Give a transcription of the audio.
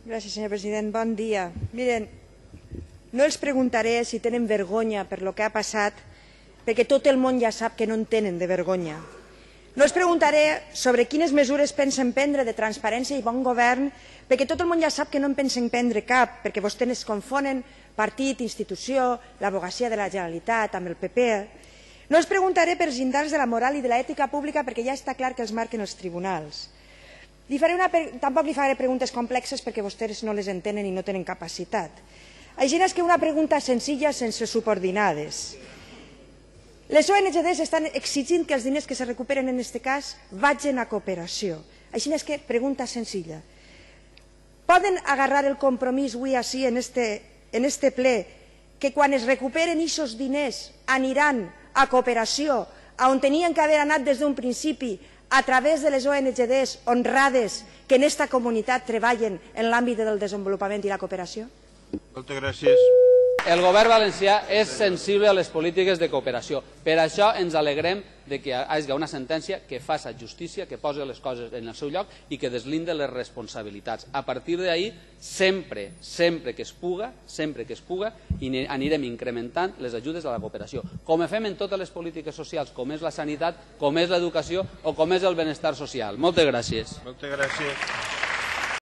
Gràcies, senyor president. Bon dia. Miren, no els preguntaré si tenen vergonya per lo que ha passat, perquè tot el món ja sap que no en tenen de vergonya. No els preguntaré sobre quines mesures pensen prendre de transparència i bon govern, perquè tot el món ja sap que no en pensen prendre cap, perquè vostès es confonen partit, institució, l'advocacia de la Generalitat amb el PP. No els preguntaré per els llindars de la moral i de l'ètica pública, perquè ja està clar que els marquen els tribunals. Tampoc li faré preguntes complexes perquè vostès no les entenen i no tenen capacitat. Així és que una pregunta senzilla sense subordinades. Les ONGs estan exigint que els diners que se recuperen en aquest cas vagin a cooperació. Així és que pregunta senzilla. Poden agarrar el compromís avui així en este ple que quan es recuperen aquests diners aniran a cooperació, on tenien que haver anat des d'un principi, a través de les ONGs honrades que en esta comunitat treballen en l'àmbit del desenvolupament i la cooperació? Moltes gràcies. El govern valencià és sensible a les polítiques de cooperació. Per això ens alegrem que hi hagi una sentència que faci justícia, que posi les coses en el seu lloc i que deslinde les responsabilitats. A partir d'ahir, sempre que es puga, anirem incrementant les ajudes a la cooperació, com fem en totes les polítiques socials, com és la sanitat, com és l'educació o com és el benestar social. Moltes gràcies. Moltes gràcies.